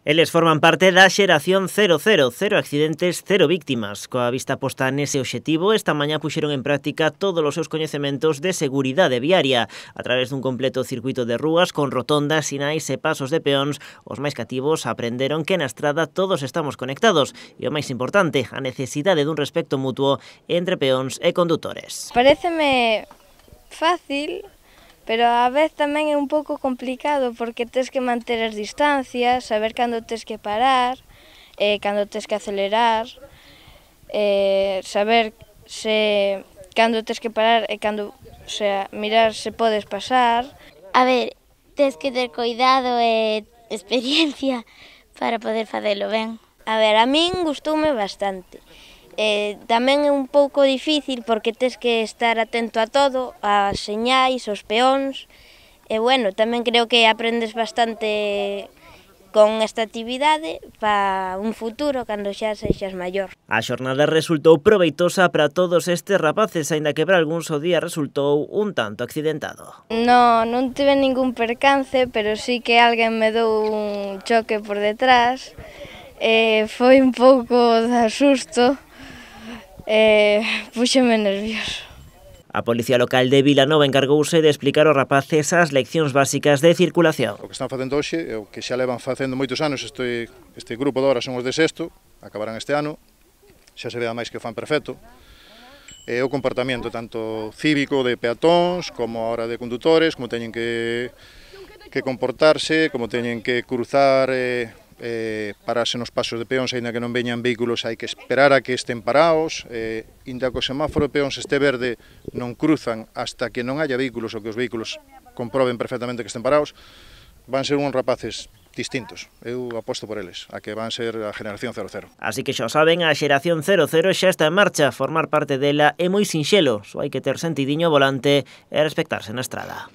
Eles forman parte da xeración 00, cero accidentes, cero víctimas. Coa vista posta nese obxectivo, esta mañá puxeron en práctica todos os seus coñecementos de seguridade viaria. A través dun completo circuito de rúas con rotondas, sinais e pasos de peóns, os máis cativos aprenderon que na estrada todos estamos conectados e o máis importante, a necesidade dun respecto mutuo entre peóns e condutores. Paréceme fácil, pero a vez tamén é un pouco complicado porque tes que manter as distancias, saber cando tes que parar, cando tes que acelerar, saber cando tes que parar e cando, mirar se podes pasar. A ver, tes que ter cuidado e experiencia para poder facelo ben. A ver, a min gustoume bastante. Tamén é un pouco difícil porque tes que estar atento a todo, as señais, os peóns, e bueno, tamén creo que aprendes bastante con esta actividade para un futuro cando xa sexas maior. A xornada resultou proveitosa para todos estes rapaces, aínda que para algúns o día resultou un tanto accidentado. Non tive ningún percance, pero sí que alguén me dou un choque por detrás, foi un pouco de susto, púxeme nervioso. A Policía Local de Vilanova encargouse de explicar aos rapaces as leccións básicas de circulación. O que están facendo hoxe é o que xa levan facendo moitos anos, este grupo de horas son os de sexto, acabarán este ano, xa se vea máis que fan perfecto. E o comportamento tanto cívico de peatóns como a hora de condutores, como teñen que comportarse, como teñen que cruzar, pararse nos pasos de peóns, aínda que non veñan vehículos, hai que esperar a que estén parados, inda que o semáforo de peóns este verde non cruzan hasta que non haya vehículos ou que os vehículos comproben perfectamente que estén parados. Van ser uns rapaces distintos, eu aposto por eles, a que van ser a generación 00. Así que xa saben, a xeración 00 xa está en marcha, formar parte dela é moi sinxelo, só hai que ter sentidiño volante e respectarse na estrada.